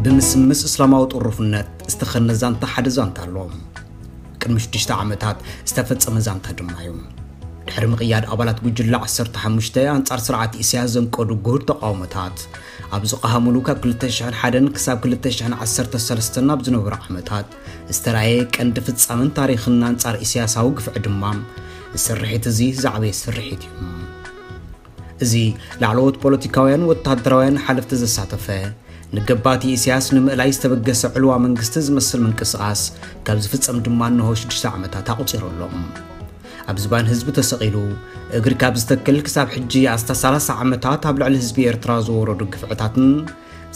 ብምስምስ እስላማዊ ጥሩፍነት ዝተኸነ ዛንታ ሓደ ዛንታ ኣሎ። ቅድሚ ሽዱሽተ ዓመታት ዝተፈጸመ ዛንታ ድማ እዩ። ድሕሪ ምቕያድ ኣባላት ጉጅለ ዓሰርተ ሓሙሽተ ኣንጻር ስርዓት ኢሳያስ ዘንቀዱ ጉህድ ተቃውሞታት ኣብ ዝቐሃሙሉ ካብ ክልተ ሽሕን ሓደን ክሳብ ክልተ ሽሕን ዓሰርተ ሰለስተን ኣብ ዝነበሩ ዓመታት ዝተራእየ ቀንዲ ፍጻመን ታሪኽን ኣንጻር ኢሳያሳዊ ግፍዒ ድማ፣ እዚ ስርሒት እዚ ዝዓበየ ስርሒት እዩ። እዚ ላዕለዎት ፖለቲካውያን ወተሃደራውያን ሓለፍቲ ዘሳተፈ፣ ንገባቲ ኢሳያስ ንምእላይ ዝተበገሰ ዕልዋ መንግስቲ ዝመስል ምንቅስቓስ ካብ ዝፍጸም ድማ እንሆ ሽዱሽተ ዓመታት ኣቑጺሩ ኣሎ። ኣብ ዝባን ህዝቢ ተሰቒሉ፣ እግሪ ካብ ዝተክል ክሳብ ሕጂ ኣስታ ሰላሳ ዓመታት ኣብ ልዕሊ ህዝቢ ኤርትራ ዝወረዱ ግፍዕታትን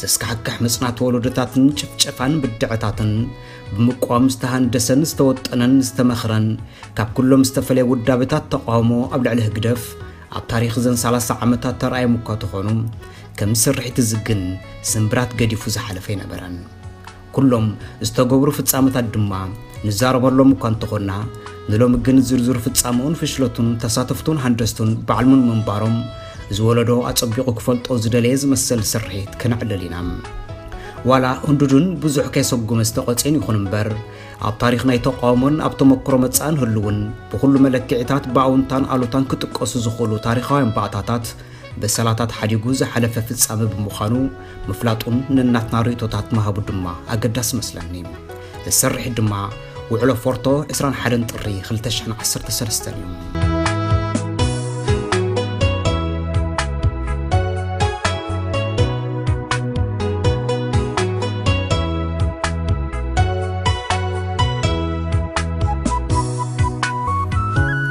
ዘስካሕክሕ መጽናት ወለዶታትን ጭፍጨፋን ብድዐታትን ብምቋም ዝተሃንደሰን ዝተወጠነን ዝተመኽረን ካብ ኩሎም ዝተፈለየ ውዳበታት ተቃውሞ ኣብ ልዕሊ ህግደፍ ኣብ ታሪኽ ዘን ሰላሳ ዓመታት ተራእዮም እኳ ተኾኑ፣ ከም ስርሒት እዚ ግን ስምብራት ገዲፉ ዝሓለፈ ኣይነበረን። ኩሎም ዝተገብሩ ፍጻመታት ድማ ንዛረበሎም እኳ እንተኾንና፣ ንሎሚ ግን ዝርዝር ፍጻመኡን ፍሽለቱን ተሳተፍቱን ሃንደስቱን ባዕልሙን ምንባሮም፣ እዚ ወለዶ ኣጸቢቑ ክፈልጦ ዝደለየ ዝመሰል ስርሒት ከነዕልል ኢና። ዋላ ህንዱዱን ብዙሕ ከይሰጉመ ዝተቖጽየን ይኹን እምበር፣ ኣብ ታሪኽ ናይ ተቃውሞን ኣብ ተመክሮ መጻእን ህልውን ብኹሉ መለክዒታት ብኣውንታን ኣሉታን ክጥቀሱ ዝኽእሉ ታሪኻውያን ባእታታት በሰላታት ሓዲጉ ዝሓለፈ ፍጻመ ብምዃኑ፣ ምፍላጡን ነናትና ርእይቶታት ምሃቡ ድማ ኣገዳሲ መስለኒ። እዚ ስርሒት ድማ ውዕሎ ፎርቶ ዕስራን ሓደን ጥሪ ክልተ ሽሕን ዓሰርተ ሰለስተን እዩ።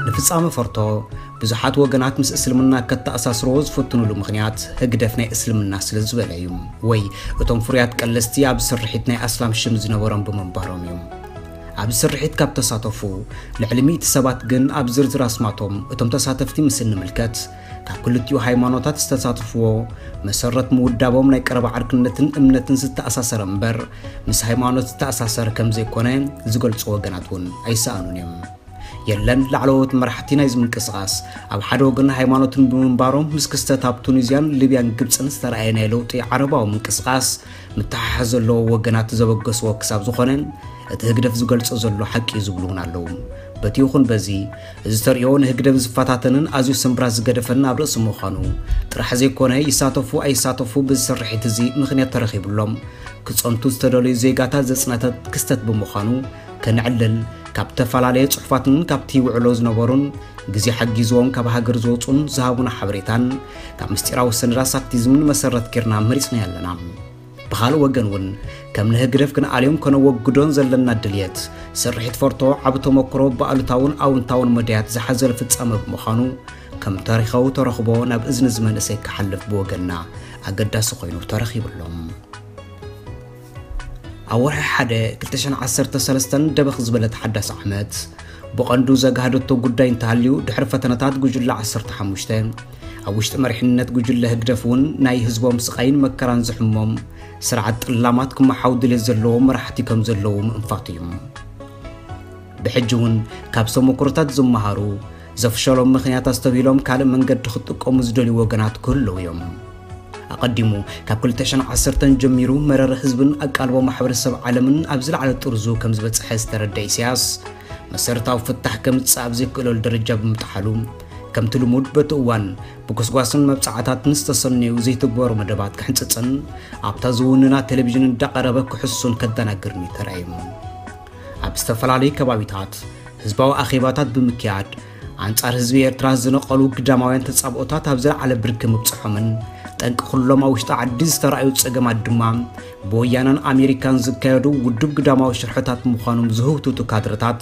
ንፍጻመ ፎርቶ ብዙሓት ወገናት ምስ እስልምና ከተኣሳስርዎ ዝፍትኑሉ ምኽንያት ህግደፍ ናይ እስልምና ስለ ዝበለ እዩ፣ ወይ እቶም ፍሩያት ቀለስቲ ኣብ ስርሒት ናይ ኣስላም ሽም ዝነበሮም ብምንባሮም እዩ። ኣብ ስርሒት ካብ ተሳተፉ ልዕሊ ሚእቲ ሰባት ግን ኣብ ዝርዝር ኣስማቶም እቶም ተሳተፍቲ ምስ እንምልከት፣ ካብ ክልቲኡ ሃይማኖታት ዝተሳተፍዎ መሰረት ምውዳቦም ናይ ቀረባ ዓርክነትን እምነትን ዝተኣሳሰረ እምበር፣ ምስ ሃይማኖት ዝተኣሳሰረ ከም ዘይኮነ ዝገልጹ ወገናት እውን ኣይሰኣኑን እዮም። የለን ላዕለዎት መራሕቲ ናይዚ ምንቅስቓስ ኣብ ሓደ ወገን ሃይማኖትን ብምንባሮም፣ ምስ ክስተት ኣብ ቱኒዝያን ሊብያን ግብጽን ዝተረኣየ ናይ ለውጢ ዓረባዊ ምንቅስቓስ ምተሓሓዝ ዘለዎ ወገናት ዘበገስዎ ክሳብ ዝኾነ፣ እቲ ህግደፍ ዝገልጾ ዘሎ ሓቂ እዩ ዝብሉ እውን ኣለዉ። በቲ ይኹን በዚ፣ እዚ ተርእዮ ንህግደፍ ዝፈታተንን ኣዝዩ ስምብራት ዝገደፈን ኣብ ርእሲ ምዃኑ ጥራሕ ዘይኮነ፣ ይሳተፉ ኣይሳተፉ ብዚ ስርሒት እዚ ምኽንያት ተረኺብሎም ክጸንቱ ዝተደለዩ ዜጋታት ዘጽነተ ክስተት ብምዃኑ ከነዕልል፣ ካብ ዝተፈላለየ ጽሑፋትን ካብቲ ውዕሎ ዝነበሩን ግዜ ሓጊዝዎም ካብ ሃገር ዝወጹን ዝሃቡና ሓበሬታን ካብ ምስጢራዊ ሰነዳት ሳክቲዝምን መሰረት ጌርና መሪጽናዮ ኣለና። ብኻልእ ወገን እውን፣ ከም ንህግደፍ ክንኣልዮን ከነወግዶን ዘለና ድልየት፣ ስርሒት ፎርቶ ዓቢ ተመክሮ ብኣሉታውን ኣውንታውን መዳያት ዝሓዘለ ፍጻመ ብምዃኑ፣ ከም ታሪኻዊ ተረኽቦ ናብ እዝኒ እዚ መንእሰይ ክሓልፍ ብወገንና ኣገዳሲ ኮይኑ ተረኺቡ ኣሎ። ኣብ ወርሒ ሓደ ክልተ ሽሕን ዓሰርተ ሰለስተን ደበኽ ዝበለት ሓዳስ ዓመት፣ ብቐንዱ ዘጋህደቶ ጉዳይ እንተሃልዩ፣ ድሕሪ ፈተነታት ጉጅለ ዓሰርተ ሓሙሽተ፣ ኣብ ውሽጢ መሪሕነት ጉጅለ ህግደፍ እውን ናይ ህዝቦም ስቓይን መከራን ዝሕሞም ስርዓት ጥላማት ክመሓው ድሌት ዘለዎም መራሕቲ ከም ዘለዉ ምእንፋት እዩ። ብሕጂ እውን ካብ ተመኩሮታት ዝመሃሩ፣ ዘፍሸሎም ምኽንያት ኣስተብሂሎም ካልእ መንገዲ ክጥቀሙ ዝደልዩ ወገናት ክህልዉ እዮም። ኣቐዲሙ ካብ ክልተ ሽሕን ዓሰርተን ጀሚሩ መረረ ህዝብን ኣቃልቦ ማሕበረሰብ ዓለምን ኣብ ዝለዓለ ጥርዙ ከም ዝበጽሐ ዝተረደ ኢሳያስ፣ መሰረታዊ ፍታሕ ከምጽእ ኣብ ዘይክእለሉ ደረጃ ብምጥሓሉ፣ ከምቲ ልሙድ በቲ እዋን ብጎስጓስን መብጻዓታትን ዝተሰነዩ ዘይትግበሩ መደባት ክሕንጽጽን ኣብታ ዝውንና ቴሌቪዥን እንዳቐረበ ክሕሱን ከደናግርን እዩ ተራእዩ። ኣብ ዝተፈላለዩ ከባቢታት ህዝባዊ ኣኼባታት ብምክያድ፣ ኣንጻር ህዝቢ ኤርትራ ዝነቐሉ ግዳማውያን ተጻብኦታት ኣብ ዝለዓለ ብርኪ ምብጽሖምን፣ ጠንቂ ኩሎም ኣብ ውሽጢ ዓዲ ዝተራእዩ ጸገማት ድማ ብወያነን ኣሜሪካን ዝካየዱ ውዱብ ግዳማዊ ሽርሕታት ምዃኖም ዝህውትቱ ካድረታት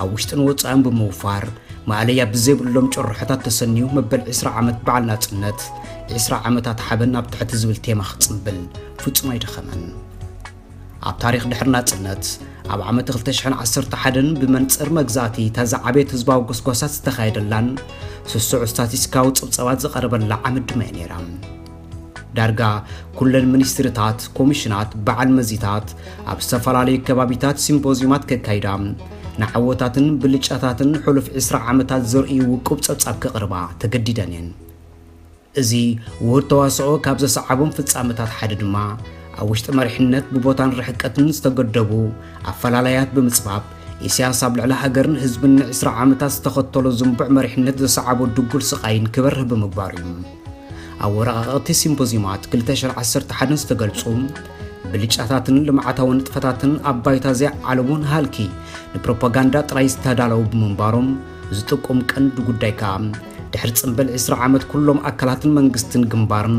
ኣብ ውሽጥን ወጻእን ብምውፋር፣ ማእለያ ብዘይብሎም ጭርሖታት ተሰንዩ፣ መበል ዕስራ ዓመት በዓል ናጽነት፣ ዕስራ ዓመታት ሓበን ኣብ ትሕቲ ዝብል ቴማ ክጽንብል ፍጹም ኣይደኸመን። ኣብ ታሪኽ ድሕሪ ናጽነት፣ ኣብ ዓመት ክልተ ሽሕን ዓሰርተ ሓደን ብመንጽር መግዛእቲ እታ ዝዓበየት ህዝባዊ ጎስጓሳት ዝተኻየደላን ስሱዕ ስታቲስቲካዊ ጸብጻባት ዝቐረበላ ዓመት ድማ እያ ነይራ። ዳርጋ ኩለን ሚኒስትሪታት፣ ኮሚሽናት፣ በዓል መዚታት ኣብ ዝተፈላለዩ ከባቢታት ሲምፖዝዩማት ከካይዳ፣ ንዓወታትን ብልጫታትን ሕሉፍ ዕስራ ዓመታት ዘርእዩ ውቁብ ጸብጻብ ከቕርባ ተገዲደን እየን። እዚ ውሁድ ተዋስኦ ካብ ዘሰዓቦም ፍጻመታት ሓደ ድማ፣ ኣብ ውሽጢ መሪሕነት ብቦታን ርሕቀትን ዝተገደቡ ኣፈላላያት ብምጽባብ፣ ኢሳያስ ኣብ ልዕሊ ሃገርን ህዝብን ንዕስራ ዓመታት ዝተኸተሎ ዝንቡዕ መሪሕነት ዘሰዓቦ ድጉል ስቓይን ክበርህ ብምግባሩ እዩ። ኣብ ወረቓቕቲ ሲምፖዚዩማት ክልተ ሽሕን ዓሰርተ ሓደን ዝተገልጹ ብልጫታትን ልምዓታዊ ንጥፈታትን ኣብ ባይታ ዘይዓለሙን ሃልኪ ንፕሮፓጋንዳ ጥራይ ዝተዳለዉ ብምንባሮም፣ ዝጥቁም ቀንዲ ጉዳይ ከኣ፣ ድሕሪ ጽምብል ዕስራ ዓመት ኩሎም ኣካላትን መንግስትን ግንባርን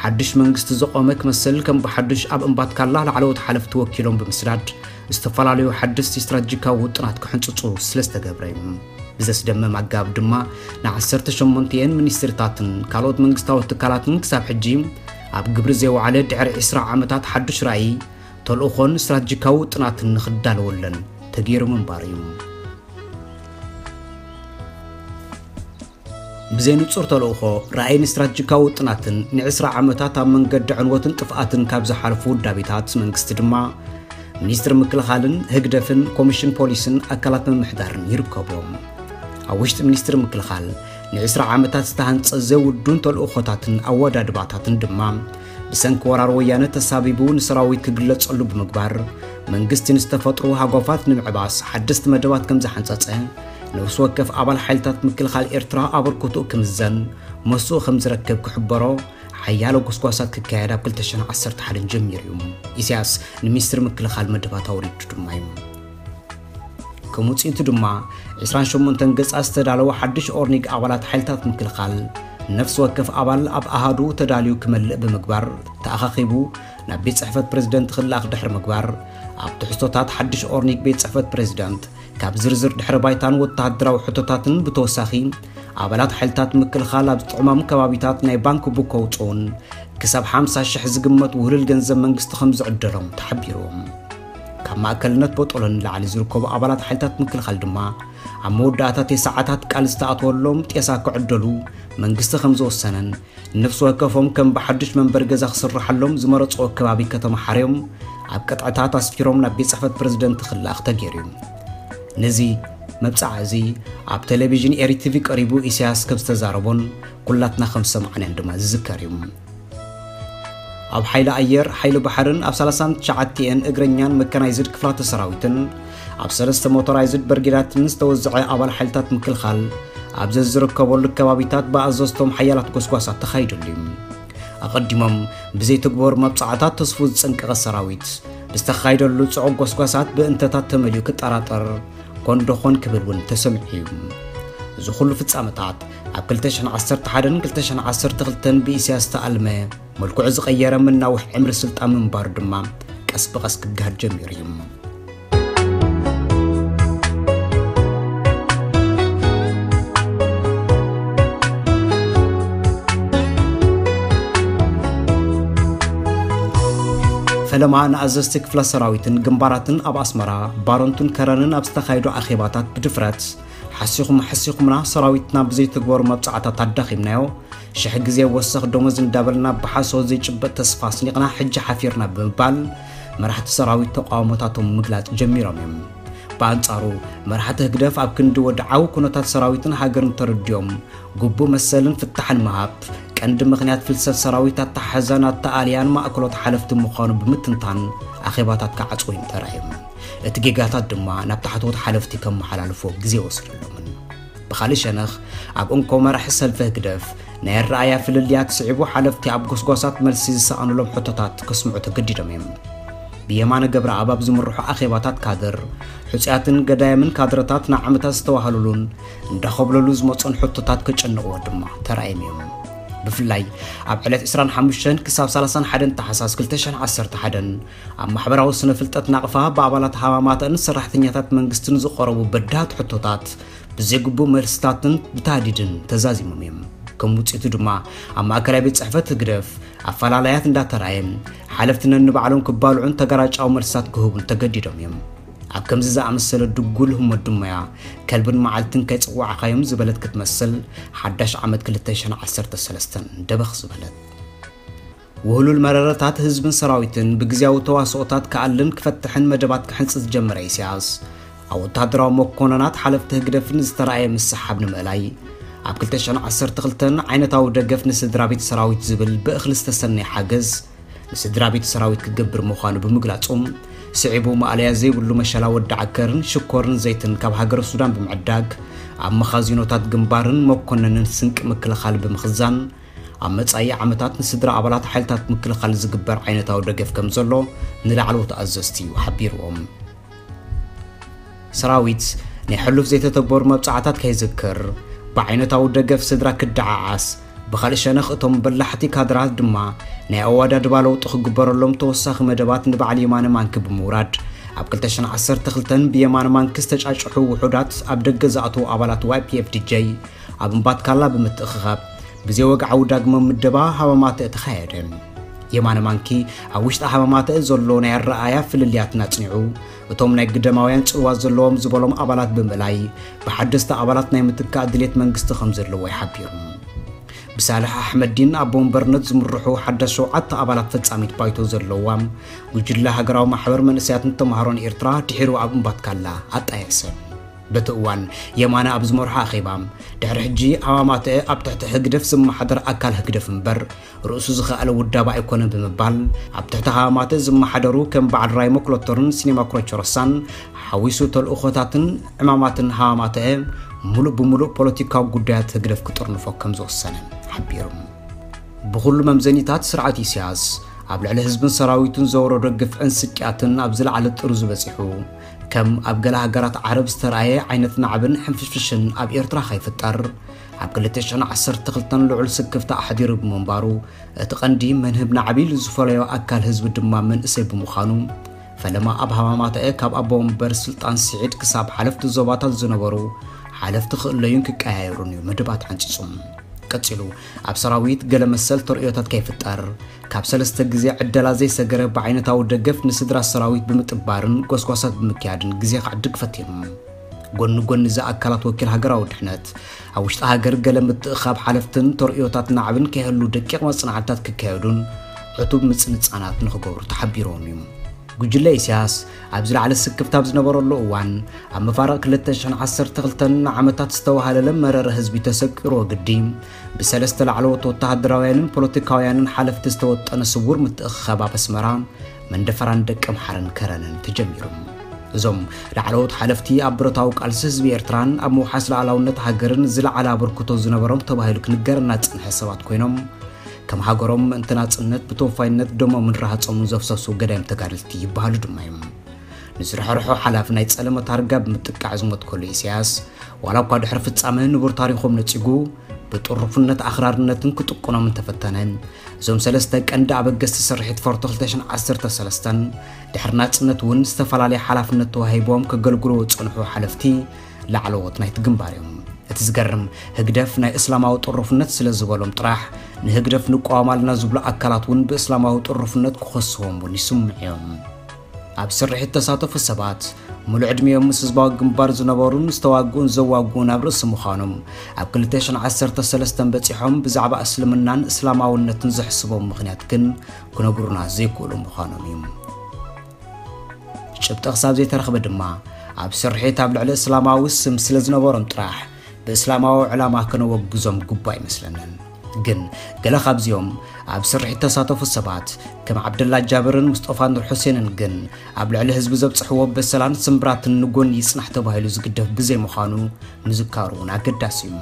ሓድሽ መንግስቲ ዝቖመ ክመስል ከም ብሓድሽ ኣብ እምባትካላ ላዕለዎት ሓለፍቲ ወኪሎም ብምስዳድ ዝተፈላለዩ ሓደስቲ ስትራቴጂካዊ ውጥናት ክሕንጽጹ ስለ ዝተገብረ እዩ። ብዘስደምም ኣገባብ ድማ ንዓሰርተ ሸሞንተኤን ሚኒስትሪታትን ካልኦት መንግስታዊ ትካላትን ክሳብ ሕጂ ኣብ ግብሪ ዘይወዓለ ድሕሪ ዕስራ ዓመታት ሓድሽ ራእይ፣ ተልእኾን ስትራቴጂካዊ ውጥናትን ንኽዳለወለን ተገይሩ ምንባሩ እዩ። ብዘይ ንጹር ተልእኾ፣ ራእይን ስትራቴጂካዊ ውጥናትን ንዕስራ ዓመታት ኣብ መንገዲ ዕንወትን ጥፍኣትን ካብ ዝሓለፉ ውዳቤታት መንግስቲ ድማ፣ ሚኒስትሪ ምክልኻልን ህግደፍን ኮሚሽን ፖሊስን ኣካላት ምምሕዳርን ይርከብዎም። ኣብ ውሽጢ ሚኒስትሪ ምክልኻል ንዕስራ ዓመታት ዝተሃንጸ ዘውዱን ተልእኾታትን ኣወዳድባታትን ድማ ብሰንኪ ወራር ወያነ ተሳቢቡ ንሰራዊት ክግለጸሉ ብምግባር፣ መንግስቲ ንዝተፈጥሩ ሃጓፋት ንምዕባስ ሓደስቲ መደባት ከም ዝሓንጸጸ፣ ነፍሲ ወከፍ ኣባል ሓይልታት ምክልኻል ኤርትራ ኣበርክቶኡ ክምዘን፣ መስኡ ከም ዝረክብ ክሕበሮ፣ ሓያሎ ጎስጓሳት ክካየድ ኣብ ክልተ ሽሕን ዓሰርተ ሓደን ጀሚሩ እዩ። ኢሳያስ ንሚኒስትሪ ምክልኻል መደባት ኣውሪዱ ድማ እዩ። ከም ውጽኢቱ ድማ፣ ዕስራን ሸሞንተን ገጻት ዝተዳለወ ሓድሽ ኦርኒግ ኣባላት ሓይልታት ምክልኻል፣ ነፍሲ ወከፍ ኣባል ኣብ ኣሃዱ ተዳልዩ ክመልእ ብምግባር፣ ተኣኻኺቡ ናብ ቤት ጽሕፈት ፕሬዝደንት ክለኣኽ ድሕሪ ምግባር፣ ኣብ ትሕዝቶታት ሓድሽ ኦርኒግ ቤት ጽሕፈት ፕሬዝደንት፣ ካብ ዝርዝር ድሕረ ባይታን ወተሃደራዊ ሕቶታትን ብተወሳኺ፣ ኣባላት ሓይልታት ምክልኻል ኣብ ዝጥዕሞም ከባቢታት ናይ ባንክ ቡክ ከውጽኡን ክሳብ ሓምሳ ሽሕ ዝግመት ውህሉል ገንዘብ መንግስቲ ከም ዝዕደሎም ተሓቢሩ። ካብ ማእከልነት ቦጦሎ ንላዕሊ ዝርከቡ ኣባላት ሓይልታት ምክልኻል ድማ ኣብ መወዳእታ ሰዓታት ቃል ዝተኣተወሎም ጤሳ ክዕደሉ መንግስቲ ከም ዝወሰነን፣ ነፍሲ ወከፎም ከም ብሓድሽ መንበሪ ገዛ ክስርሓሎም ዝመረጽዎ ከባቢ ከተማ ሓርዮም ኣብ ቅጥዕታት ኣስፊሮም ናብ ቤት ጽሕፈት ፕሬዝደንት ክለኣኽ ተገይሩ እዩ። ነዚ መብጻዓ እዚ ኣብ ቴሌቪዥን ኤሪ ቲቪ ቀሪቡ ኢሳያስ ከም ዝተዛረቦን ኩላትና ከም ዝሰማዕናዮን ድማ ዝዝከር እዩ። ኣብ ሓይሊ ኣየር፣ ሓይሊ ባሕርን ኣብ ሰላሳን ትሽዓተን እግረኛን መካናይዝድ ክፍላተ ሰራዊትን ኣብ ሰለስተ ሞቶራይዝድ በርጌዳትን ዝተወዝዐ ኣባል ሓይልታት ምክልኻል ኣብ ዘዝርከበሉ ከባቢታት ብኣዘዝቶም ሓያላት ጎስጓሳት ተኻይዱሉ እዩ። ኣቐዲሞም ብዘይትግበሩ መብጻዕታት ተስፉ ዝጸንቀቐ ሰራዊት፣ ብዝተኻይደሉ ጽዑቕ ጎስጓሳት ብእንተታት ተመሊኡ ክጠራጠር፣ ኮን ዶኾን ክብል እውን ተሰሚዑ እዩ። እዚ ኩሉ ፍጻመታት ኣብ ክልተ ሽሕን ዓሰርተ ሓደን ክልተ ሽሕን ዓሰርተ ክልተን ብኢሳያስ ዝተኣልመ፣ መልክዑ ዝቐየረ መናውሒ ዕምሪ ስልጣን ምንባሩ ድማ ቀስ ብቐስ ክገሃድ ጀሚሩ እዩ። ፈለማ ንኣዘዝቲ ክፍለ ሰራዊትን ግንባራትን ኣብ ኣስመራ፣ ባረንቱን ከረንን ኣብ ዝተኻየዱ ኣኼባታት ብድፍረት፣ "ሓሲኹም፣ ሓሲኹምና፣ ሰራዊትና ብዘይትግበሩ መብጻዕታት ኣዳኺምናዮ፣ ሽሕ ግዜ ወሰኽ ደሞዝ እንዳበልና ብሓሶት ዘይጭበጥ ተስፋ ኣስኒቕና፣ ሕጂ ሓፊርና" ብምባል መራሕቲ ሰራዊት ተቃውሞታቶም ምግላጽ ጀሚሮም እዮም። ብኣንጻሩ፣ መራሕቲ ህግደፍ ኣብ ክንዲ ወድዓዊ ኩነታት ሰራዊትን ሃገርን ተረዲኦም፣ ግቡእ መሰልን ፍታሕን ምሃብ፣ ቀንዲ ምኽንያት ፍልሰት ሰራዊት ኣተሓሕዛን ኣተኣልያን ማእከሎት ሓለፍቲ ምዃኑ ብምትንታን ኣኼባታት ክዓጽዉ እዮም ተራእዮም። እቲ ጌጋታት ድማ ናብ ታሕተዎት ሓለፍቲ ከመሓላልፍዎ ግዜ ወሲዱሎምን። ብኻልእ ሸነኽ፣ ኣብ እንኮ መራሒ ሰልፊ ህግደፍ ናይ ኣረኣእያ ፍልልያት ስዒቡ ሓለፍቲ ኣብ ጎስጓሳት መልሲ ዝሰኣኑሎም ሕቶታት ከስምዑ ተገዲዶም እዮም። ብየማነ ገብረኣብ ኣብ ዝምርሑ ኣኼባታት ካድር፣ ሕጹያትን ገዳይምን ካድረታት ንዓመታት ዝተዋህሉሉን እንዳኸብለሉ ዝመጹን ሕቶታት ከጨንቕዎ ድማ ተራእዮም እዮም። ብፍላይ ኣብ ዕለት ዕስራን ሓሙሽተን ክሳብ ሰላሳን ሓደን ታሕሳስ ክልተ ሽሕን ዓሰርተ ሓደን ኣብ ማሕበራዊ ስነ ፍልጠት ናቕፋ ብኣባላት ሃማማተን ሰራሕተኛታት መንግስትን ዝቐረቡ በዳህቲ ሕቶታት ብዘይግቡእ መልስታትን ብታህዲድን ተዛዚሞም እዮም። ከም ውጽኢቱ ድማ ኣብ ማእከላይ ቤት ጽሕፈት ህግደፍ ኣፈላላያት እንዳተራእየ፣ ሓለፍቲ ነንባዕሎም ክባልዑን ተገራጫዊ መልስታት ክህቡን ተገዲዶም እዮም። ኣብ ከምዚ ዝኣመሰለ ድጉል ህሞት ድማ እያ፣ "ከልብን መዓልትን ከይጸዋዕካዮም" ዝበለት ክትመስል፣ ሓዳሽ ዓመት ክልተ ሽሕን ዓሰርተ ሰለስተን ደበኽ ዝበለት። ውህሉል መረረታት ህዝብን ሰራዊትን ብግዝያዊ ተዋስኦታት ክኣልን ክፈትሕን መደባት ክሕንጽጽ ዝጀመረ ኢሳያስ፣ ኣብ ወተሃደራዊ መኮነናት ሓለፍቲ ህግደፍን ዝተራእየ ምስሓብ ንምእላይ፣ ኣብ ክልተ ሽሕን ዓሰርተ ክልተን ዓይነታዊ ደገፍ ንስድራ ቤት ሰራዊት ዝብል ብእኽሊ ዝተሰነየ ሓገዝ፣ ስድራ ቤት ሰራዊት ክገብር ምዃኑ ብምግላጹ፣ ስዒቡ ማእለያ ዘይብሉ መሸላ ወዲ ዓከርን ሽኮርን ዘይትን ካብ ሃገረ ሱዳን ብምዕዳግ፣ ኣብ መኻዚኖታት ግንባርን መኮነንን ስንቂ ምክልኻል ብምኽዛን፣ ኣብ መጻኢ ዓመታት ንስድራ ኣባላት ሓይልታት ምክልኻል ዝግበር ዓይነታዊ ደገፍ ከም ዘሎ ንላዕለዎት ኣዘዝቲ እዩ ሓቢርዎም። ሰራዊት ናይ ሕሉፍ ዘይተተግበሩ መብጻዕታት ከይዝክር፣ ብዓይነታዊ ደገፍ ስድራ ክደዓዓስ፣ ብኻልእ ሸነኽ እቶም በላሕቲ ካድራት ድማ ናይ ኣወዳድባ ለውጢ ክግበረሎም ተወሳኺ መደባት ንበዓል የማነ ማንኪ ብምውራድ፣ ኣብ ክልተ ሽሕን ዓሰርተ ክልተን ብየማነ ማንኪ ዝተጫጭሑ ውሑዳት ኣብ ደገ ዝኣተዉ ኣባላት ዋይ ፒ ኤፍ ዲ ጀይ ኣብ እምባትካላ ብምትእኽኻብ፣ ብዘይ ወግዓዊ ዳግመ ምደባ ሃማማተአ ተኻየደ። የማነ ማንኪ ኣብ ውሽጢ ሃማማተአ ዘሎ ናይ ኣረኣእያ ፍልልያትን ኣጽኒዑ፣ እቶም ናይ ግደማውያን ጽልዋ ዘለዎም ዝበሎም ኣባላት ብምእላይ፣ ብሓደስቲ ኣባላት ናይ ምትካእ ድሌት መንግስቲ ከም ዘለዎ ይሓቢሩ። ብሳልሕ ኣሕመዲን ኣቦ ወንበርነት ዝምርሑ ሓዳስ ሸውዓተ ኣባላት ፈጻሚት ባይቶ ዘለዋ ጉጅለ ሃገራዊ ማሕበር መንእሰያትን ተምሃሮን ኤርትራ ድሒሩ ኣብ እምባትካላ ኣጣየሰ። በቲ እዋን የማነ ኣብ ዝመርሖ ኣኼባ፣ ድሕሪ ሕጂ ሃማማተአ ኣብ ትሕቲ ህግደፍ ዝመሓደር ኣካል ህግደፍ እምበር፣ ርእሱ ዝኸኣለ ውዳበ ኣይኮነን ብምባል፣ ኣብ ትሕቲ ሃማማተአ ዝመሓደሩ ከም በዓል ራይሞ ክሎተርን ሲኔማ ክሮቸሮሳን ሓዊሱ ተልእኾታትን ዕማማትን ሃማማተአ ምሉእ ብምሉእ ፖለቲካዊ ጉዳያት ህግደፍ ክጥርንፎ ከም ዝወሰነ ሓቢሩ። ብኹሉ መምዘኒታት ስርዓት ኢሳያስ ኣብ ልዕሊ ህዝብን ሰራዊቱን ዘውረዶ ግፍዕን ስቅያትን ኣብ ዝለዓለ ጥርዙ በጺሑ፣ ከም ኣብ ገለ ሃገራት ዓረብ ዝተረኣየ ዓይነት ናዕብን ሕንፍሽፍሽን ኣብ ኤርትራ ከይፍጠር፣ ኣብ ክልተ ሽሕን ዓሰርተ ክልተን ልዑል ስክፍታ ኣሕዲሩ ብምንባሩ፣ እቲ ቀንዲ መንህብ ናዕቢ ኢሉ ዝፈለዮ ኣካል ህዝቢ ድማ መንእሰይ ብምዃኑ፣ ፈለማ ኣብ ሃማማተአ ካብ ኣቦ ወንበር ስልጣን ስዒድ ክሳብ ሓለፍቲ ዞባታት ዝነበሩ ሓለፍቲ ክእለዩን ክቀያየሩን እዩ መደባት ሓንጺጹ። ቀጺሉ፣ ኣብ ሰራዊት ገለ መሰል ተርእዮታት ከይፍጠር፣ ካብ ሰለስተ ግዜ ዕደላ ዘይሰገረ ብዓይነታዊ ደገፍ ንስድራ ሰራዊት ብምጥባርን ጎስጓሳት ብምክያድን ግዜ ከዕድግ ፈቲኑ። ጎኒ ጎኒ እዚ ኣካላት ወኪል ሃገራዊ ድሕነት፣ ኣብ ውሽጢ ሃገር ገለ ምትእኻብ ሓለፍትን ተርእዮታት ናዕብን ከይህሉ ደቂቕ መጽናዕትታት ክካየዱን ዕቱብ ምጽንጻናት ንኽገብሩ ተሓቢርዎም እዩ። ጉጅለ ኢሳያስ ኣብ ዝለዓለ ስክፍታ ኣብ ዝነበረሉ እዋን፣ ኣብ መፋርቕ ክልተ ሽሕን ዓሰርተ ክልተን ንዓመታት ዝተዋሃለለ መረረ ህዝቢ ተሰቂሩ ወግዲ፣ ብሰለስተ ላዕለዎት ወተሃደራውያንን ፖለቲካውያንን ሓለፍቲ ዝተወጠነ ስውር ምትእኽኻብ ኣብ ኣስመራ፣ መንደፈራን ደቀምሓረን ከረንን ተጀሚሩ። እዞም ላዕለዎት ሓለፍቲ ኣብ ብረታዊ ቃልሲ ህዝቢ ኤርትራን ኣብ ምውሓስ ሉዓላውነት ሃገርን ዝለዓለ ኣበርክቶ ዝነበሮም ተባሂሉ ክንገረና ዝጸንሐ ሰባት ኮይኖም፣ ከም ሃገሮም ምእንቲ ናጽነት ብተወፋይነት ደሞምን ረሃጾምን ዘፍሰሱ ገዳይም ተጋደልቲ ይበሃሉ ድማ እዮም። ንዝርሕርሖ ሓላፊ ናይ ጸለመ ታርጋ ብምጥቃዕ ዝሞት ከሎ ኢሳያስ፣ ዋላ እኳ ድሕሪ ፍጻመ ንቡር ታሪኾም ነጺጉ፣ ብጥሩፍነት ኣኽራርነትን ክጥቁኖም እንተፈተነ፣ እዞም ሰለስተ ቀንዲ ኣበገስቲ ስርሒት ፎርቶ ክልተ ሽሕን ዓሰርተ ሰለስተን ድሕሪ ናጽነት እውን ዝተፈላለየ ሓላፍነት ተዋሂቦም ከገልግሉ ዝጸንሑ ሓለፍቲ ላዕለዎት ናይቲ ግንባር እዮም። እቲ ዝገርም፣ ህግደፍ ናይ እስላማዊ ጥሩፍነት ስለ ዝበሎም ጥራሕ፣ ንህግደፍ ንቃወም ኣለና ዝብሉ ኣካላት እውን ብእስላማዊ ጥሩፍነት ክኸስዎም እውን ይስምዑ እዮም። ኣብ ስርሒት ተሳተፉ ሰባት፣ ምሉእ ዕድሚኦም ምስ ህዝባዊ ግንባር ዝነበሩን ዝተዋግኡን ዘዋግኡን ኣብ ርእሲ ምዃኖም፣ ኣብ ክልተ ሽሕን ዓሰርተ ሰለስተን በጺሖም ብዛዕባ እስልምናን እስላማውነትን ዘሕስቦም ምኽንያት ግን ክነግሩና ዘይክእሉ ምዃኖም እዩ። ጭብጢ ክሳብ ዘይተረኽበ ድማ፣ ኣብ ስርሒት ኣብ ልዕሊ እስላማዊ ስም ስለ ዝነበሮም ጥራሕ፣ ብእስላማዊ ዕላማ ከነወግዞም ግቡእ ኣይመስለንን። ግን ገለ ካብዚኦም ኣብ ስርሒት ተሳተፉ ሰባት፣ ከም ዓብደላ ጃብርን ሙስጠፋ ኑር ሑሴንን ግን፣ ኣብ ልዕሊ ህዝቢ ዘብጽሕዎ በሰላን ስምብራትን ንጎኒ ይጽናሕ ተባሂሉ ዝግደፍ ብዘይምዃኑ፣ ምዝካሩ እውን ኣገዳሲ እዩ።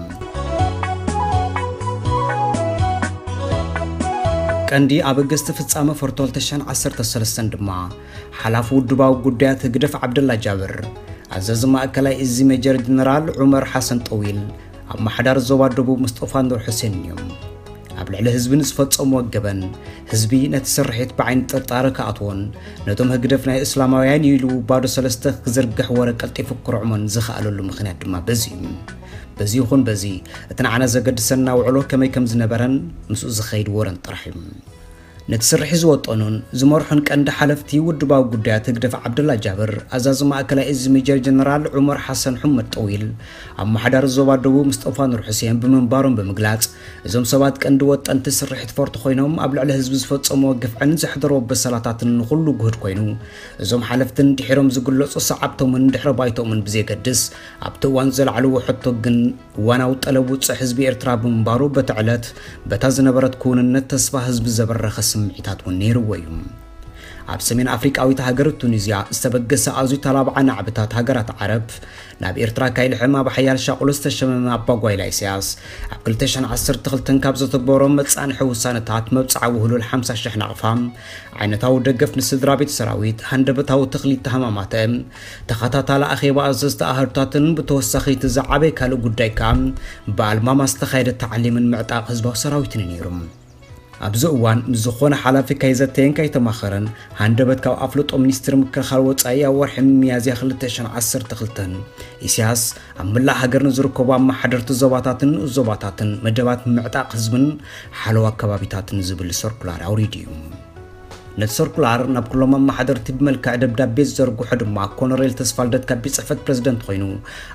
ቀንዲ ኣበገስቲ ፍጻመ ፎርቶ ክልተ ሽሕን ዓሰርተ ሰለስተን ድማ፣ ሓላፊ ውድባዊ ጉዳያት ህግደፍ ዓብደላ ጃብር፣ ኣዛዚ ማእከላይ እዚ ሜጀር ጀነራል ዑመር ሓሰን ጠዊል፣ ኣመሓዳሪ ዞባ ደቡብ ሙስጠፋ ኑር ሑሴን እዮም። ኣብ ልዕሊ ህዝቢ ንዝፈጸምዎ ገበን፣ ህዝቢ ነቲ ስርሒት ብዓይኒ ጥርጣረ ክኣትዎን፣ ነቶም ህግደፍ ናይ እስላማውያን ኢሉ ባዶ ሰለስተ ክዝርግሕ ወረ ቀልጢፉ ክርዕሞን ዝኸኣለሉ ምኽንያት ድማ በዚ እዩ። በዚ ይኹን በዚ፣ እቲ ንዓና ዘገድሰና ውዕሎ ከመይ ከም ዝነበረን ምስኡ ዝኸይድ ወረን ጥራሕ እዩ። ነቲ ስርሒት ዝወጠኑን ዝመርሑን ቀንዲ ሓለፍቲ ውድባዊ ጉዳያት ህግደፍ ዓብደላ ጃብር፣ ኣዛዚ ማእከላይ እዚ ሜጀር ጀነራል ዑመር ሓሰን ሑመድ ጠዊል፣ ኣመሓዳሪ ዞባ ደቡብ ሙስጠፋ ኑር ሑሴን ብምንባሮም ብምግላጽ፣ እዞም ሰባት ቀንዲ ወጠንቲ ስርሒት ፎርቶ ኮይኖም ኣብ ልዕሊ ህዝቢ ዝፈጸምዎ ግፍዕን ዘሕደርዎ በሰላታትን ንኹሉ ግሁድ ኮይኑ፣ እዞም ሓለፍትን ድሒሮም ዝግለጹ ሰዓብቶምን ድሕረ ባይቶምን ብዘየገድስ፣ ኣብቲ እዋን ዘልዓልዎ ሕቶ ግን እዋናዊ ጠለብ ውጹዕ ህዝቢ ኤርትራ ብምንባሩ፣ በቲ ዕለት በታ ዝነበረት ክውንነት ተስፋ ህዝቢ ዘበረኸ ስምዒታት እውን ነይርዎ እዩ። ኣብ ሰሜን ኣፍሪቃዊት ሃገር ቱኒዝያ ዝተበገሰ ኣዝዩ ተላባዓ ናዕብታት ሃገራት ዓረብ፣ ናብ ኤርትራ ካይልሕም ኣብ ሓያል ሻቕሎ ዝተሸመመ ኣባጓይላ ኢሳያስ፣ ኣብ ክልተ ሽሕን ዓሰርተ ክልተን ካብ ዘተግበሮም መጻንሒ ውሳነታት መብጽዓ ውህሉል ሓምሳ ሽሕ ናቕፋ፣ ዓይነታዊ ደገፍ ንስድራ ቤት ሰራዊት፣ ሃንደበታዊ ተኽሊ ተሃማማተ፣ ተኸታታሊ ኣኼባ ኣዘዝቲ ኣሃዱታትን ብተወሳኺ እቲ ዝዓበየ ካልእ ጉዳይ ከኣ ብኣልማማ ዝተኻየደ ታዕሊምን ምዕጣቕ ህዝባዊ ሰራዊትን እዩ ነይሩ። ኣብዚ እዋን ምስ ዝኾነ ሓላፊ ከይዘተየን ከይተማኸረን ሃንደበት ካብ ኣፍልጦ ሚኒስትሪ ምክልኻል ወጻኢ ኣብ ወርሒ ሚያዝያ ክልተ ሽሕን ዓሰርተ ክልተን ኢሳያስ ኣብ መላእ ሃገር ንዝርከቡ ኣመሓደርቲ ዞባታትን ንኡስ ዞባታትን መደባት ምዕጣቕ ህዝብን ሓለዋ ከባቢታትን ዝብል ሰርኩላር ኣውሪዱ እዩ። ነቲ ሰርኩላር ናብ ኩሎም ኣመሓደርቲ ብመልክዕ ደብዳቤ ዝዘርግሖ ድማ ኮሎኔል ተስፋልደት ካብ ቤት ጽሕፈት ፕረዚደንት ኮይኑ፣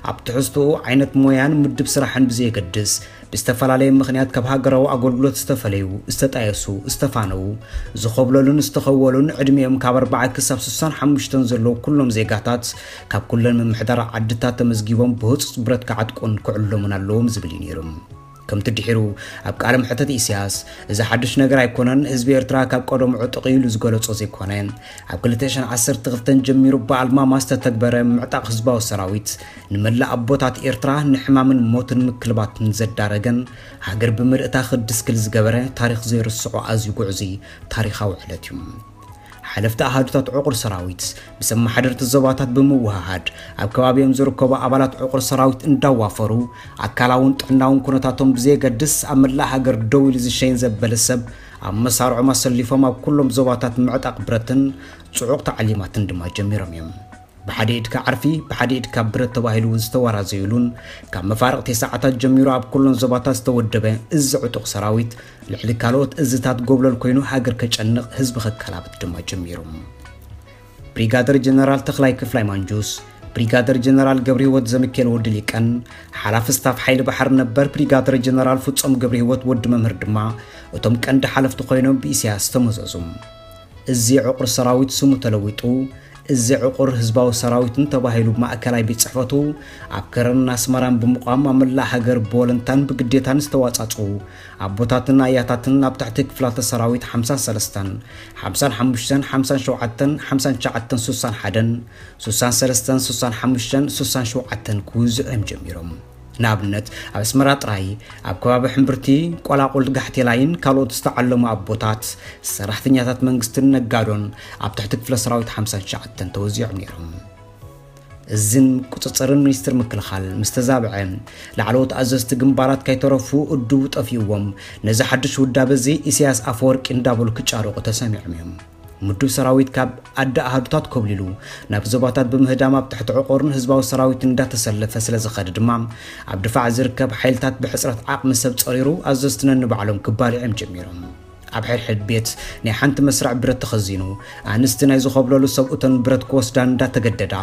ኣብ ትሕዝትኡ ዓይነት ሞያን ምድብ ስራሕን ብዘየገድስ፣ ብዝተፈላለየ ምኽንያት ካብ ሃገራዊ ኣገልግሎት ዝተፈለዩ፣ ዝተጣየሱ፣ ዝተፋነዉ፣ ዝኾብለሉን ዝተኸወሉን ዕድሚኦም ካብ ኣርባዓ ክሳብ ስሳን ሓሙሽተን ዘለዉ ኩሎም ዜጋታት ካብ ኩለን ምምሕዳር ዓድታት ተመዝጊቦም ብህጹጽ ብረት ክዓጥቁን ክዕለሙን ኣለዎም ዝብል እዩ ነይሩ። ከምቲ ድሒሩ ኣብ ቃለ መሕተት ኢሳያስ፣ "እዚ ሓድሽ ነገር ኣይኮነን፣ ህዝቢ ኤርትራ ካብ ቀደሙ ዕጡቕ እዩ" ኢሉ ዝገለጾ ዘይኮነ፣ ኣብ ክልተ ሽሕን ዓሰርተ ክልተን ጀሚሩ ብኣልማማ ዝተተግበረ ምዕጣቕ ህዝባዊ ሰራዊት፣ ንመላእ ኣቦታት ኤርትራ ንሕማምን ሞትን ምክልባትን ዘዳረገን፣ ሃገር ብምልእታ ክድስክል ዝገበረ፣ ታሪኽ ዘይርስዖ ኣዝዩ ግዕዙይ ታሪኻዊ ዕለት እዩ። ሓለፍቲ ኣሃዱታት ዕቑር ሰራዊት ምስ ኣመሓደርቲ ዞባታት ብምውህሃድ፣ ኣብ ከባቢኦም ዝርከቡ ኣባላት ዕቑር ሰራዊት እንዳዋፈሩ፣ ኣካላውን ጥዕናውን ኩነታቶም ብዘየገድስ፣ ኣብ መላእ ሃገር ደው ኢሉ ዝሸይን ዘበለ ሰብ ኣብ መሳርዖም ኣሰሊፎም፣ ኣብ ኩሎም ዞባታት ምዕጣቕ ብረትን ጽዑቕ ታዕሊማትን ድማ ጀሚሮም እዮም። ብሓደ ኢድካ ዓርፊ፣ ብሓደ ኢድካ ብረት ተባሂሉ እውን ዝተወራዘዩሉን፣ ካብ መፋርቕቲ ሰዓታት ጀሚሩ ኣብ ኩለን ዞባታት ዝተወደበ እዚ ዕጡቕ ሰራዊት፣ ልዕሊ ካልኦት እዝታት ጎብለል ኮይኑ ሃገር ከጨንቕ፣ ህዝቢ ከከላብት ድማ ጀሚሩ። ብሪጋደር ጀነራል ተኽላይ ክፍላይ ማንጁስ፣ ብሪጋደር ጀነራል ገብረህይወት ዘሚካኤል ወዲ ሊቀን፣ ሓላፊ ስታፍ ሓይሊ ባሕሪ ነበር ብሪጋደር ጀነራል ፍጹም ገብረህይወት ወዲ መምህር ድማ እቶም ቀንዲ ሓለፍቲ ኮይኖም ብኢሳያስ ተመዘዙ። እዚ ዕቑር ሰራዊት ስሙ ተለዊጡ፣ እዚ ዕቑር ህዝባዊ ሰራዊትን ተባሂሉ ብማእከላይ ቤት ጽሕፈቱ ኣብ ከረንን ኣስመራን ብምቋም ኣብ መላእ ሃገር ብወለንታን ብግዴታን ዝተዋጻጽኡ ኣቦታትን ኣያታትን ኣብ ትሕቲ ክፍላተ ሰራዊት ሓምሳን ሰለስተን፣ ሓምሳን ሓሙሽተን፣ ሓምሳን ሸውዓተን፣ ሓምሳን ትሽዓተን፣ ስሳን ሓደን፣ ስሳን ሰለስተን፣ ስሳን ሓሙሽተን፣ ስሳን ሸውዓተን ክውዝዑ እዮም ጀሚሮም። ንኣብነት፣ ኣብ ኣስመራ ጥራይ፣ ኣብ ከባቢ ሕምብርቲ፣ ቆላቁል፣ ጋሕቴላይን ካልኦት ዝተዓለሙ ኣቦታት፣ ሰራሕተኛታት መንግስትን ነጋዶን ኣብ ትሕቲ ክፍለ ሰራዊት ሓምሳን ትሽዓተን ተወዚዖም ነይሮም። እዝን ቁጽጽርን ሚኒስትር ምክልኻል ምስ ተዛብዐ፣ ላዕለዎት ኣዘዝቲ ግንባራት ከይተረፉ እድቡ ጠፊእዎም፣ ነዚ ሓድሽ ውዳበ እዚ ኢሳያስ ኣፈወርቂ እንዳበሉ ክጫረቑ ተሰሚዖም እዮም። ምዱብ ሰራዊት ካብ ኣደ ኣሃዱታት ኮብሊሉ ናብ ዞባታት ብምህዳም ኣብ ትሕቲ ዕቑርን ህዝባዊ ሰራዊት እንዳተሰለፈ ስለ ዝኸደ ድማ፣ ኣብ ድፋዕ ዝርከብ ሓይልታት ብሕጽረት ዓቕሚ ሰብ ጸሪሩ ኣዘዝቲ ነንባዕሎም ክባልዑ እዮም ጀሚሮም። ኣብ ሕድሕድ ቤት ናይ ሓንቲ መስርዕ ብረት ተኸዚኑ፣ ኣንስቲ ናይ ዝኾብለሉ ሰብኡተን ብረት ክወስዳ እንዳተገደዳ፣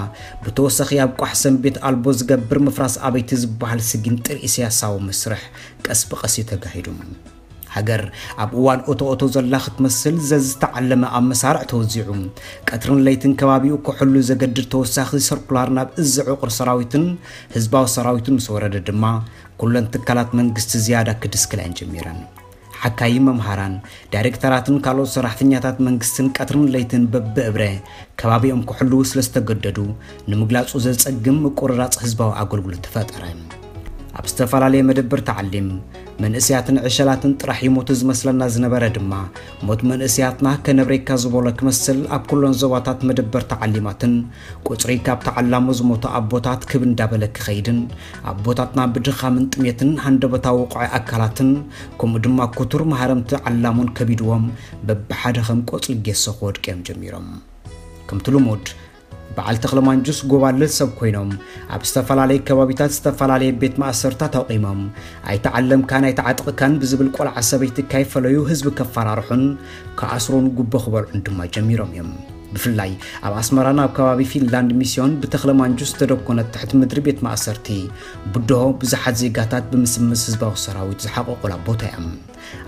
ብተወሳኺ ኣብ ቋሕ ሰንቤት ኣልቦ ዝገብር ምፍራስ ኣበይቲ ዝበሃል ስጊንጥር ኢሳያሳዊ መስርሕ ቀስ ብቐስ እዩ ተጋሂዱ። ሃገር ኣብ እዋን ኦቶ ኦቶ ዘላ ክትመስል ዘዝተዓለመ ኣብ መሳርዕ ተወዚዑ፣ ቀትርን ለይትን ከባቢኡ ክሕሉ ዘገድድ ተወሳኺ ሰርኩላር ናብ እዚ ዕቑር ሰራዊትን ህዝባዊ ሰራዊትን ምስ ወረደ ድማ፣ ኩለን ትካላት መንግስቲ ዝያዳ ክድስክላ እየን ጀሚረን። ሓካይም መምሃራን፣ ዳይሬክተራትን ካልኦት ሰራሕተኛታት መንግስትን ቀትርን ለይትን በብእብረ ከባቢኦም ክሕልዉ ስለ ዝተገደዱ፣ ንምግላጹ ዘጸግም ምቁርራጽ ህዝባዊ ኣገልግሎት ተፈጠረ። ኣብ ዝተፈላለየ መደበር ተዓሊም፣ መንእሰያትን ዕሸላትን ጥራሕ ይሞቱ ዝመስለና ዝነበረ ድማ፣ ሞት መንእሰያትና ከነብሬካ ዝበሎ ክመስል ኣብ ኩለን ዞባታት መደበር ተዓሊማትን ቁጽሪ ካብ ተዓላሞ ዝሞቱ ኣቦታት ክብ እንዳበለ ክኸይድን፣ ኣቦታትና ብድኻምን ጥሜትን ሃንደበታዊ ውቑዒ ኣካላትን፣ ከምኡ ድማ ክቱር ማህረምቲ ዓላሞን ከቢድዎም፣ በብሓደ ከም ቆጽሊ ጌሶ ክወድቁ እዮም ጀሚሮም። ከምቲ ልሙድ፣ በዓል ተኽለ ማንጁስ ጎባልል ሰብ ኮይኖም፣ ኣብ ዝተፈላለየ ከባቢታት ዝተፈላለየ ቤት ማእሰርታት ኣቑሞም፣ ኣይተዓለምካን ኣይተዓጥቕካን ብዝብል ቆልዓ ሰበይቲ ካይፈለዩ ህዝቢ ከፈራርሑን ክኣስሩን ጉቦ ክበልዑን ድማ ጀሚሮም እዮም። ብፍላይ ኣብ ኣስመራን ኣብ ከባቢ ፊንላንድ ሚስዮን ብተኽለ ማንጁስ ዝተደኮነት ትሕቲ ምድሪ ቤት ማእሰርቲ ብድሆ ብዙሓት ዜጋታት ብምስምስ ህዝባዊ ሰራዊት ዝሓቆቁላ ቦታ እያ።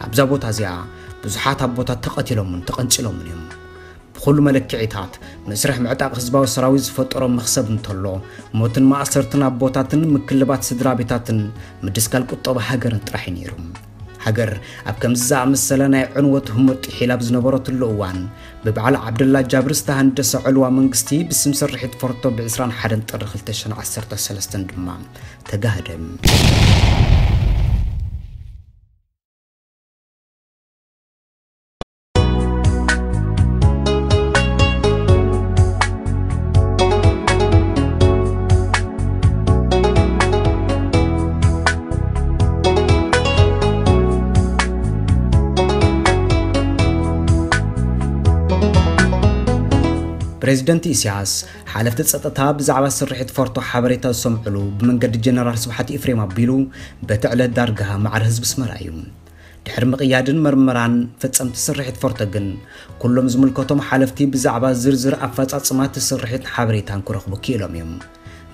ኣብዛ ቦታ እዚኣ ብዙሓት ኣቦታት ተቐቲሎምን ተቐንጺሎምን እዮም። ብኹሉ መለክዒታት፣ መስርሕ ምዕጣቕ ህዝባዊ ሰራዊት ዝፈጠሮ መኽሰብ እንተሎ፣ ሞትን ማእሰርትን ኣቦታትን ምክልባት ስድራ ቤታትን ምድስካል ቁጠባ ሃገርን ጥራሕ እዩ ነይሩ። ሃገር ኣብ ከምዚ ዝኣመሰለ ናይ ዕንወት ህሞት ጥሒላ ኣብ ዝነበረትሉ እዋን፣ ብበዓል ዓብደላ ጃብር ዝተሃንደሰ ዕልዋ መንግስቲ ብስም ስርሒት ፎርቶ ብ ዕስራን ሓደን ጥሪ ክልተ ሽሕን ዓሰርተ ሰለስተን ድማ ተጋህደ። ፕሬዚደንት ኢሳያስ፣ ሓለፍቲ ጸጥታ ብዛዕባ ስርሒት ፎርቶ ሓበሬታ ዝሰምዕሉ ብመንገዲ ጀነራል ስብሓት ኤፍሬም ኣቢሉ፣ በቲ ዕለት ዳርጋ ማዕረ ህዝቢ ኣስመራ እዩ። ድሕሪ ምቕያድን መርመራን ፈጸምቲ ስርሒት ፎርቶ ግን፣ ኩሎም ዝምልከቶም ሓለፍቲ ብዛዕባ ዝርዝር ኣፈጻጽማ እቲ ስርሒትን ሓበሬታን ክረኽቡ ክኢሎም እዮም።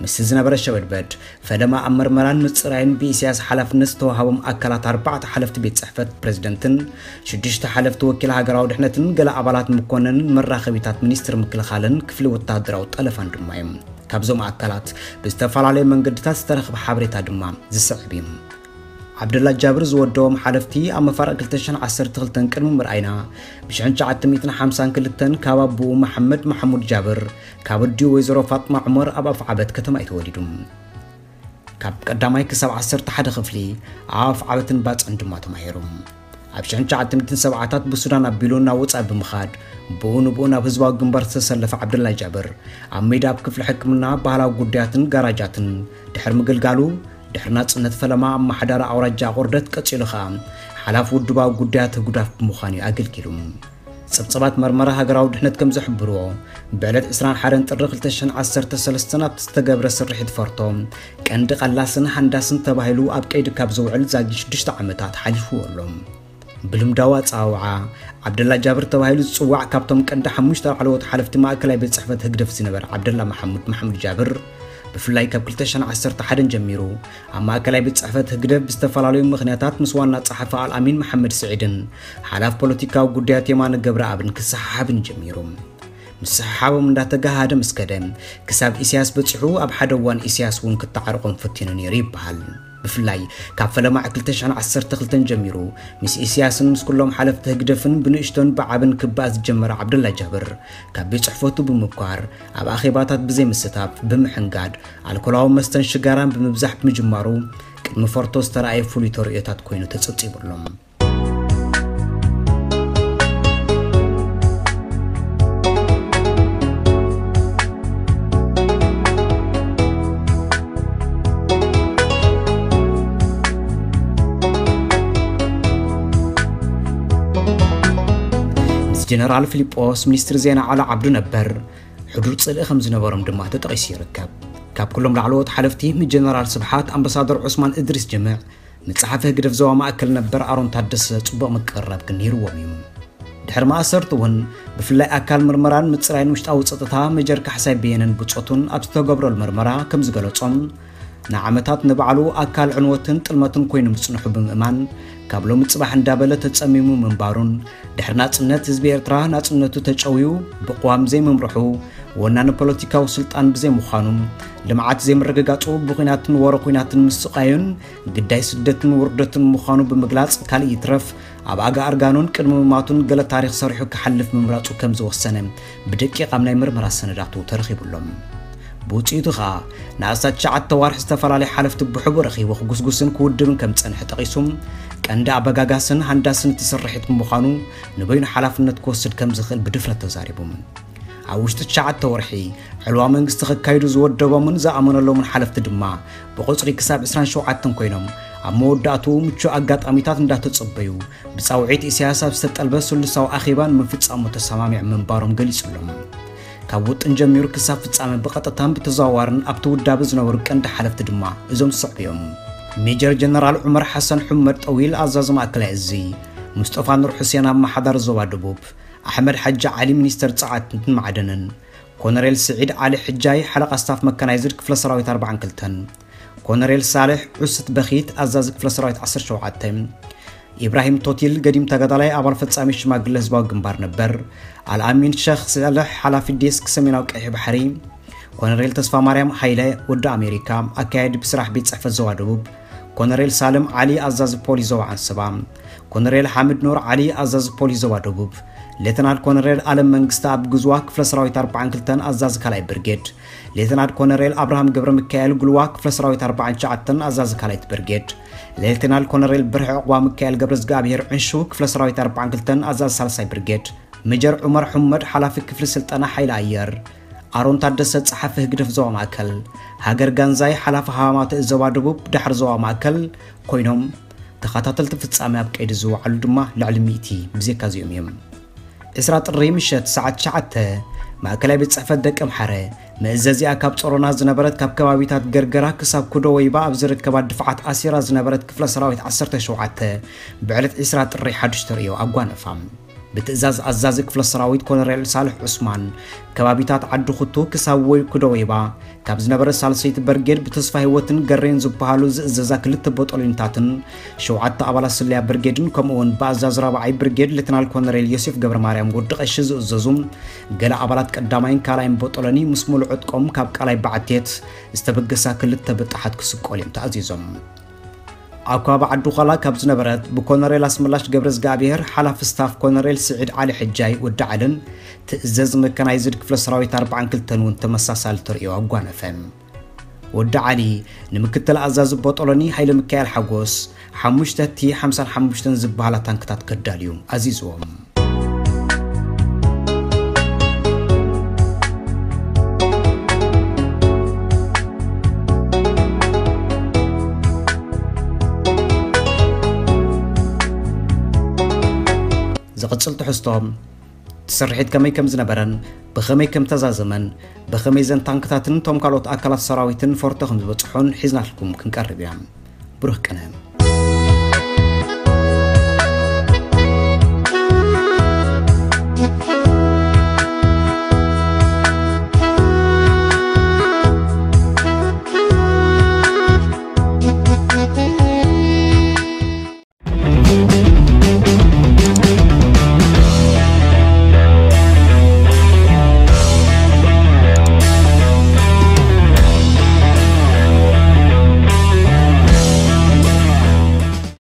ምስቲ ዝነበረ ሸበድበድ፣ ፈለማ ኣብ መርመራን ምጽራይን ብኢሳያስ ሓላፍነት ዝተዋሃቦም ኣካላት ኣርባዕተ ሓለፍቲ ቤት ጽሕፈት ፕሬዝደንትን ሽዱሽተ ሓለፍቲ ወኪል ሃገራዊ ድሕነትን ገለ ኣባላት መኮነንን መራኸቢታት ሚኒስትሪ ምክልኻልን ክፍሊ ወተሃደራዊ ጠለፋን ድማ እዮም። ካብዞም ኣካላት ብዝተፈላለየ መንገድታት ዝተረኽበ ሓበሬታ ድማ ዝስዕብ እዩ። ዓብደላ ጃብር ዝወደቦም ሓለፍቲ ኣብ መፋርቕ ክልተ ሽሕን ዓሰርተ ክልተን ቅድሚ ምርኣይና፣ ብ ሽሕን ትሽዓተ ሚእትን ሓምሳን ክልተን ካብ ኣቦኡ መሓመድ መሓሙድ ጃብር፣ ካብ ኣዲኡ ወይዘሮ ፋጥማ ዑመር ኣብ ኣፍዓበት ከተማ እዩ ተወሊዱ። ካብ ቀዳማይ ክሳብ ዓሰርተ ሓደ ክፍሊ ኣብ ኣፍዓበትን ባጽዕን ድማ ተማሂሩ። ኣብ ሽሕን ትሽዓተ ሚእትን ሰብዓታት ብሱዳን ኣቢሉ ናብ ወጻኢ ብምኻድ፣ ብኡ ንብኡ ናብ ህዝባዊ ግንባር ዝተሰለፈ ዓብደላ ጃብር፣ ኣብ ሜዳ ኣብ ክፍሊ ሕክምና፣ ባህላዊ ጉዳያትን ጋራጃትን ድሕሪ ምግልጋሉ፣ ድሕሪ ናጽነት ፈለማ ኣመሓዳሪ ኣውራጃ ኣቑርደት፣ ቀጺሉ ኸኣ ሓላፊ ውድባዊ ጉዳያት ህጉዳፍ ብምዃን እዩ ኣገልጊሉ። ጸብጸባት መርመራ ሃገራዊ ድሕነት ከም ዝሕብርዎ፣ ብዕለት ዕስራን ሓደን ጥሪ ክልተ ሽሕን ዓሰርተ ሰለስተን ኣብቲ ዝተገብረ ስርሒት ፎርቶ፣ ቀንዲ ቀላስን ሃንዳስን ተባሂሉ ኣብ ቀይዲ ካብ ዝውዕል ዛጊት ሽዱሽተ ዓመታት ሓሊፍዎ ኣሎ። ብልምዳዊ ኣጸዋውዓ፣ ዓብደላ ጃብር ተባሂሉ ዝጽዋዕ፣ ካብቶም ቀንዲ ሓሙሽተ ላዕለዎት ሓለፍቲ ማእከላይ ቤት ጽሕፈት ህግደፍ ዝነበረ ዓብደላ መሓሙድ መሓሙድ ጃብር፣ ብፍላይ ካብ ክልተ ሽሕን ዓሰርተ ሓደን ጀሚሩ፣ ኣብ ማእከላይ ቤት ጽሕፈት ህግደፍ ብዝተፈላለዩ ምኽንያታት ምስ ዋና ጸሓፊ ኣልኣሚን መሓመድ ስዒድን ሓላፍ ፖለቲካዊ ጉዳያት የማነ ገብረኣብን ክሰሓሓብን ጀሚሩ። ምስሕሓቦም እንዳተጋሃደ ምስ ከደ፣ ክሳብ ኢሳያስ በጺሑ፣ ኣብ ሓደ እዋን ኢሳያስ እውን ክተዓርቖም ፈቲኑ ነይሩ ይበሃል። ብፍላይ ካብ ፈለማ ክልተ ሽሕን ዓሰርተ ክልተን ጀሚሩ፣ ምስ ኢሳያስን ምስ ኩሎም ሓለፍቲ ህግደፍን ብንእሽቶን ብዓብን ክበኣስ ዝጀመረ ዓብደላ ጃብር፣ ካብ ቤት ጽሕፈቱ ብምብኳር፣ ኣብ ኣኼባታት ብዘይምስታፍ፣ ብምሕንጋድ፣ ኣልኮላዊ መስተን ሽጋራን ብምብዛሕ ብምጅማሩ፣ ቅድሚ ፎርቶ ዝተረኣየ ፍሉይ ተርእዮታት ኮይኑ ተጸብጺቡ ኣሎ። ምስ ጀነራል ፊሊጶስ፣ ሚኒስትሪ ዜና ዓሊ ዓብዱ ነበር፣ ሕዱር ጽልኢ ከም ዝነበሮም ድማ ተጠቒሱ ይርከብ። ካብ ኩሎም ላዕለዎት ሓለፍቲ፣ ምስ ጀነራል ስብሓት፣ ኣምባሳደር ዑስማን እድሪስ ጅምዕ፣ ምስ ጸሓፊ ህግደፍ ዞባ ማእከል ነበር ኣሮን ታደሰ ጽቡቕ ምቅርራብ ግን ነይርዎም እዩ። ድሕሪ ማእሰርቱ እውን፣ ብፍላይ ኣካል ምርመራን ምጽራይን ውሽጣዊ ጸጥታ ሜጀር ካሕሳይ በየነን ብጾቱን ኣብ ዝተገብረሉ መርመራ ከም ዝገለጾም፣ ንዓመታት ንባዕሉ ኣካል ዕንወትን ጥልመትን ኮይኑ ምጽንሑ ብምእማን፣ ካብ ሎሚ ጽባሕ እንዳበለ ተጸሚሙ ምንባሩን፣ ድሕሪ ናጽነት ህዝቢ ኤርትራ ናጽነቱ ተጨውዩ ብቅዋም ዘይምምርሑ፣ ወናኒ ፖለቲካዊ ስልጣን ብዘይምዃኑ፣ ልምዓት ዘይምርግጋጹ፣ ብኹናትን ወረ ኹናትን ምስቓዩን ግዳይ ስደትን ውርደትን ምዃኑ ብምግላጽ፣ ካልእ ይትረፍ ኣብ ኣጋ ኣርጋኑን ቅድሚ ምማቱን ገለ ታሪኽ ሰሪሑ ክሓልፍ ምምራጹ ከም ዝወሰነ ብደቂቕ ኣብ ናይ ምርመራ ሰነዳቱ ተረኺቡ ኣሎ። ብውጽኢቱ ኸኣ ንኣስታት ትሽዓተ ኣዋርሕ ዝተፈላለዩ ሓለፍቲ ብሕቡእ ረኺቡ ክጉስጉስን ክውድብን ከም ዝጸንሐ ጠቒሱ፣ ቀንዲ ኣበጋጋስን ሃንዳስን እቲ ስርሒት ብምዃኑ ንበይኑ ሓላፍነት ክወስድ ከም ዝኽእል ብድፍረት ተዛሪቡ። ኣብ ውሽጢ ትሽዓተ ወርሒ ዕልዋ መንግስቲ ከካይዱ ዝወደቦምን ዝኣመነሎምን ሓለፍቲ ድማ ብቁጽሪ ክሳብ ዕስራን ሸውዓተን ኮይኖም፣ ኣብ መወዳእትኡ ምቹእ ኣጋጣሚታት እንዳተጸበዩ፣ ብጻውዒት ኢሳያስ ኣብ ዝተጠልበ ስሉሳዊ ኣኼባ ንምፍጻሙ ተሰማሚዖም ምንባሮም ገሊጹ ኣሎ። ካብ ውጥን ጀሚሩ ክሳብ ፍጻመ ብቐጥታን ብተዘዋዋርን ኣብቲ ውዳበ ዝነበሩ ቀንዲ ሓለፍቲ ድማ እዞም ዝስዕቡ እዮም። ሜጀር ጀነራል ዑመር ሓሰን ሑመድ ጠዊል፣ ኣዛዚ ማእከላይ እዚ፣ ሙስጠፋ ኑር ሑሴን፣ ኣመሓዳሪ ዞባ ደቡብ፣ ኣሕመድ ሓጂ ዓሊ፣ ሚኒስተር ጸዓትን ማዕድንን፣ ኮነሬል ስዒድ ዓሊ ሕጃይ፣ ሓለቓ ስታፍ መካናይዝድ ክፍለ ሰራዊት ኣርባዓን ክልተን፣ ኮነሬል ሳልሕ ዑስት በኺት፣ ኣዛዚ ክፍለ ሰራዊት ዓሰርተ ሸውዓተ፣ ኢብራሂም ቶቲል፣ ገዲም ተጋዳላይ፣ ኣባል ፈጻሚ ሽማግለ ህዝባዊ ግንባር ነበር፣ ኣልኣሚን ሸኽ ሳልሕ፣ ሓላፊ ዴስክ ሰሜናዊ ቀይሕ ባሕሪ፣ ኮነሬል ተስፋ ማርያም ሃይለ፣ ወዲ ኣሜሪካ፣ ኣካያዲ ብስራሕ ቤት ጽሕፈት ዞባ ደቡብ፣ ኮነሬል ሳልም ዓሊ ኣዛዚ ፖሊስ ዞባ ዓንሰባ፣ ኮነሬል ሓምድ ኑር ዓሊ ኣዛዚ ፖሊስ ዞባ ደቡብ፣ ሌተናል ኮነሬል ኣለም መንግስቲ ኣብ ግዝዋ ክፍለ ሰራዊት ኣርባዓን ክልተን ኣዛዚ ካልኣይ ብርጌድ፣ ሌተናል ኮነሬል ኣብርሃም ገብረ ሚካኤል ግልዋ ክፍለ ሰራዊት ኣርባዓን ትሽዓተን ኣዛዚ ካልኣይት ብርጌድ፣ ሌተናል ኮነሬል ብርሒ ዕቑባ ሚካኤል ገብረ ዝጋብሔር ዕንሹ ክፍለ ሰራዊት ኣርባዓን ክልተን ኣዛዚ ሳልሳይ ብርጌድ፣ ሜጀር ዑመር ሑመድ ሓላፊ ክፍሊ ስልጠና ሓይሊ ኣየር፣ ኣሮን ታደሰ ጸሓፊ ህግደፍ ዞባ ማእከል፣ ሃገር ጋንዛይ ሓላፊ ሃማማተ ዞባ ደቡብ ዳሕሪ ዞባ ማእከል ኮይኖም፣ ተኸታተልቲ ፍጻሜ ኣብ ቀይዲ ዝወዓሉ ድማ ልዕሊ ሚእቲ ብዜካ እዚኦም እዮም። ዕስራ ጥሪ ምሸት ሰዓት ትሽዓተ ማእከላይ ቤት ጽሕፈት ደቂ ኣምሓረ፣ መእዘዚኣ ካብ ጾሮና ዝነበረት፣ ካብ ከባቢታት ገርገራ ክሳብ ኩዶ ወይባ ኣብ ዝርከባ ድፍዓት ኣሲራ ዝነበረት ክፍለ ሰራዊት ዓሰርተ ሸውዓተ፣ ብዕለት ዕስራ ጥሪ ሓዱሽ ተርእዮ ኣጓነፋ። ብትእዛዝ ኣዛዚ ክፍለ ሰራዊት ኮነሬል ሳልሕ ዑስማን፣ ከባቢታት ዓዲ ኩቱ ክሳብ ወይ ኩዶ ወይባ ካብ ዝነበረ ሳልሰይቲ በርጌድ ብተስፋ ህይወትን ገሬን ዝበሃሉ ዝእዘዛ ክልተ ቦጦሎኒታትን ሸውዓተ ኣባላት ስለያ ብርጌድን፣ ከምኡ እውን ብኣዛዚ ራብዓይ ብርጌድ ሌተናል ኮነሬል ዮሴፍ ገብረ ማርያም ወዲ ቀሺ ዝእዘዙ ገለ ኣባላት ቀዳማይን ካልኣይን ቦጦሎኒ ምስ ሙሉእ ዕጥቆም ካብ ቃላይ በዓቴት ዝተበገሳ ክልተ ብጣሓት ክስቀሉ እዮም ተኣዚዞም። ኣብ ከባቢ ዓዲ ዃላ ካብ ዝነበረት ብኮነሬል ኣስመላሽ ገብረ ዝጋብሔር ሓላፊ ስታፍ ኮነሬል ስዒድ ዓሊ ሕጃይ ወዲ ዓልን ትእዘዝ መካናይዝድ ክፍለ ሰራዊት ኣርባዓን ክልተን እውን ተመሳሳሊ ተርእዮ ኣጓነፈ። ወዲ ዓሊ ንምክትል ኣዛዚ ቦጦሎኒ ሃይለ ሚካኤል ሓጎስ ሓሙሽተ ቲ ሓምሳን ሓሙሽተን ዝበሃላ ታንክታት ከዳልዩ ኣዚዝዎም። ዝቕጽል ትሕዝቶ፣ እቲ ስርሒት ከመይ ከም ዝነበረን ብኸመይ ከም ተዛዘመን ብኸመይ ዘን ታንክታትን እቶም ካልኦት ኣካላት ሰራዊትን ፎርቶ ከም ዝበጽሑን ሒዝናልኩም ክንቀርብ ኢና። ብሩህ ቅነ።